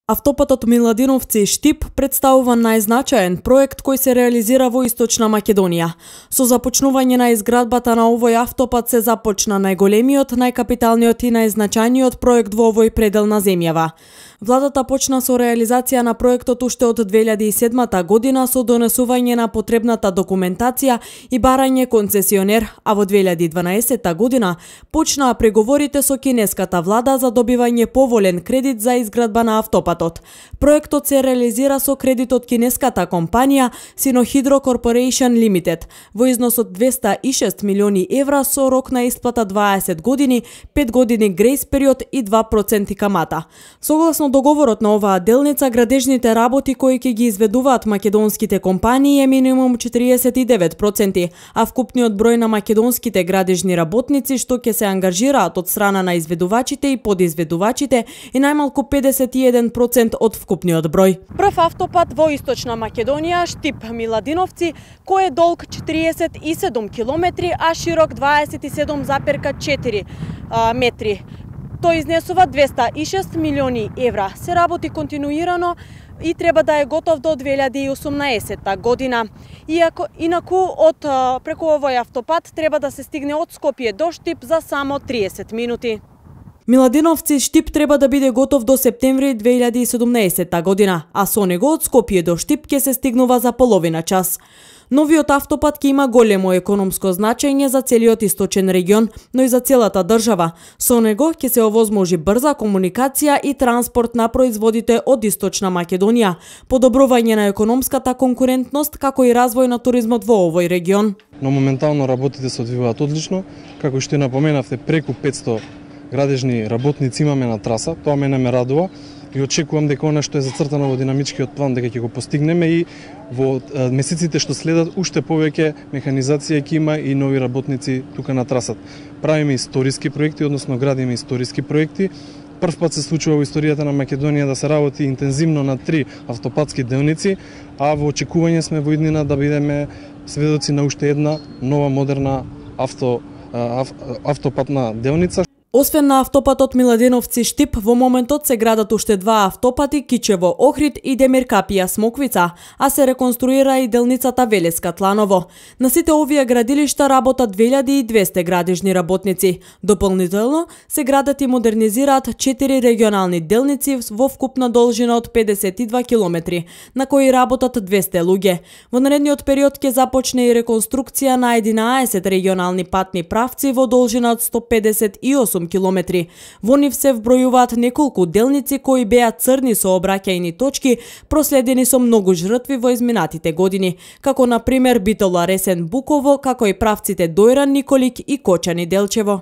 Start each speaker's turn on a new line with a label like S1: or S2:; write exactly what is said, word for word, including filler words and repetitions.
S1: Автопатот Миладиновци-Штип представува најзначаен проект кој се реализира во Источна Македонија. Со започнување на изградбата на овој автопат се започна најголемиот, најкапиталниот и најзначајниот проект во овој предел на земјава. Владата почна со реализација на проектот уште од две илјади и седма година со донесување на потребната документација и барање концесионер, а во две илјади и дванаесетта година почнаа преговорите со кинеската влада за добивање поволен кредит за изградба на автопатот. Проектот се реализира со кредит од кинеската компанија Sinohydro Corporation Limited во износ од двеста и шест милиони евра со рок на исплата дваесет години, пет години грејс период и два проценти камата. Согласно договорот на оваа делница, градежните работи кои ќе ги изведуваат македонските компании е минимум четириесет и девет проценти, а вкупниот број на македонските градежни работници што ќе се ангажираат од страна на изведувачите и подизведувачите е најмалку педесет и еден проценти од вкупниот број. Прв автопат во Источна Македонија, Штип-Миладиновци, кој е долг четириесет и седум километри, а широк дваесет и седум зарез четири метри. Тој изнесува двеста и шест милиони евра. Се работи континуирано и треба да е готов до две илјади и осумнаесетта година. Иако, инаку од преку овој автопат треба да се стигне од Скопје до Штип за само триесет минути. Миладиновци-Штип треба да биде готов до септември две илјади и седумнаесетта година, а со него од Скопје до Штип ќе се стигнува за половина час. Новиот автопат ќе има големо економско значење за целиот источен регион, но и за целата држава. Со него ќе се овозможи брза комуникација и транспорт на производите од Источна Македонија, подобрување на економската конкурентност, како и развој на туризмот во овој регион.
S2: Но моментално работите се одвиваат одлично, како што напоменавте, преку петсто градежни работници имаме на траса, тоа мене ме радува и очекувам дека она што е зацртано во динамичкиот план дека ќе го постигнеме и во месеците што следат уште повеќе механизација ќе има и нови работници тука на трасат. Правиме историски проекти, односно градиме историски проекти. Прв пат се случува во историјата на Македонија да се работи интензивно на три автопатски делници, а во очекување сме во иднина да бидеме сведоци на уште една нова модерна авто, ав, автопатна делница.
S1: Освен на автопатот Миладиновци-Штип, во моментот се градат уште два автопати Кичево-Охрид и Демиркапија-Смоквица, а се реконструира и делницата Велеска-Тланово. На сите овие градилишта работат две илјади и двесте градежни работници. Дополнително се градат и модернизираат четири регионални делници во вкупна должина од педесет и два километри, на кои работат двесте луѓе. Во наредниот период ќе започне и реконструкција на единаесет регионални патни правци во должина од сто педесет и осум километри. Во нив се вбројуваат неколку делници кои беа црни сообраќајни точки, проследени со многу жртви во изминатите години, како на пример Битола Ресен Буково, како и правците Дојран Николик и Кочани Делчево.